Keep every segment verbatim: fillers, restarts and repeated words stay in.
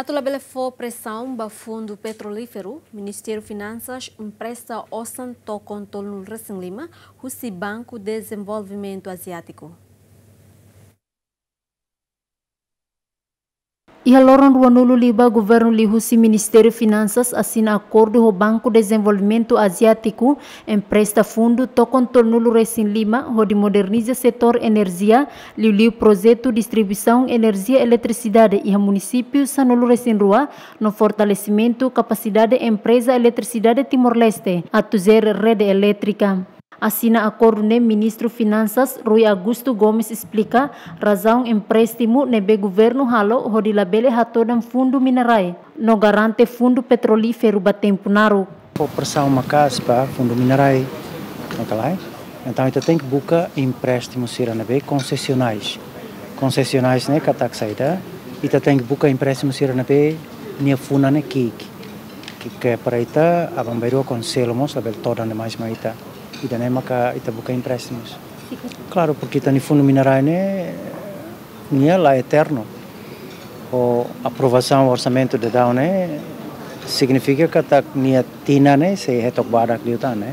Atu labele fó presaun ba Fundu Petrolíferu, Ministériu Finansas empresta osan tokon tolunulu-resin-lima husi Banku Dezenvolvimentu Aziátiku. Iha loron ruanulu liubá, governu liuhusi Ministériu Finansas asina akordu ho Banku Dezenvolvimentu Aziátiku empresta fundu tokon tolunulu-resin-lima hodi moderniza setór enerjia, liuliu projetu distribuisaun enerjia eletrisidade iha munisípiu sanulu-resin-rua, no fortalesimentu kapasidade empreza eletrisidade Timor-Leste atu jere rede elétrika. Asina akordu ne'e Ministru Finansas Rui Augusto Gomes esplika razaun empréstimu ne'ebé governu halo hodi labele hatodan Fundu Minarai no garante Fundu Petrolíferu ba tempu naruk. Fó presaun maka'as ba Fundu Minarai, ne'e ka lae? Entaun, ita tenke buka empréstimu sira ne'ebé konsesionais. Konsesionais ne'e katak saida, ita tenke buka empréstimu sira ne'ebé nia funan ne'e ki'ik. Ke, ke para ita, aban-bainrua Konsellu mós labele todan demais mai ita. Ida-ne'e maka ita buka empréstimus. Klaru, porke ita-nia Fundu Minarai ne'e, nia la eternu. Ho aprovasaun orsamentu daudaun ne'e, signifika katak nia tinan ne'e sei hetok badak liután, ne'e.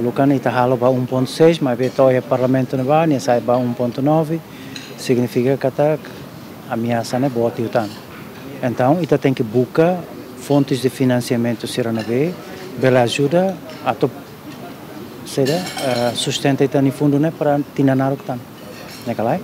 Uluk kan ita halo ba um ponto seis, maibé to'o iha Parlamentu ne'ebá, nia sai ba um ponto nove, signifika katak ameasa ne'e boot liután. Entaun, ita tenke buka fontes de finansiamentu sira ne'ebé bele ajuda atu, saida, eh, sustenta ita-nia fundu ne'e para tinan naruk tan. Ne'e ka lae?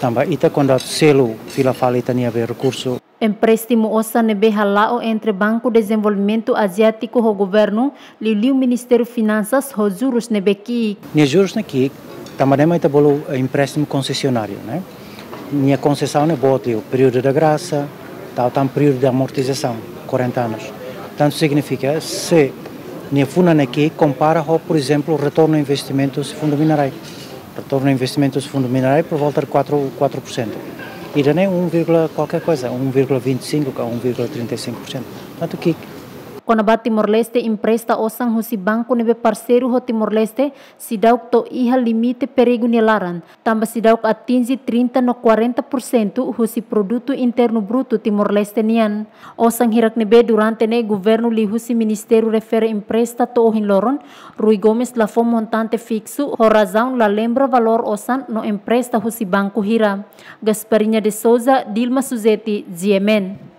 Tanba ita kuandu atu selu fila fali ita-nia be rekursu. Empréstimu osan ne'ebé hala'o entre Banku Dezenvolvimentu Aziátiku ho governu, liuliu Ministériu Finansas, ho jurus ne'ebé ki'ik. Nia jurus ne'e ki'ik, tanba ne'e mak ita bolu, eh, empréstimu konsesionáriu, ne'e? Nia konsesaun ne'e boot liu, períodu da grasa, tau tan períodu de amortizasaun, quarenta anos. Tantu signifika, se nia funan ne'e ki'ik kompara ho, por ezemplu, retornu investimentu husi Fundu Minarai. Retornu investimentu husi Fundu Minarai por volta de quatro, quatro por cento. Ida-ne'e um vírgula qualquer coisa, um vírgula vinte e cinco ka um vírgula trinta e cinco por cento. Tantu ki'ik. Kona-ba Timor-Leste empresta osan husi banku ne'ebé parseiru ho Timor-Leste, seidauk to'o iha limite perigu nia laran, tanba seidauk atinje trinta no quarenta por cento husi Produtu Internu Brutu Timor-Leste nian. Osan hirak ne'ebé durante ne'e governu liuhusi ministériu refere empresta to'o ohin loron, Rui Gomes la fó montante fiksu, ho razaun la lembra valór osan no empresta husi banku hira. Gasparinha de Souza, Dilma Suzeti, G M N.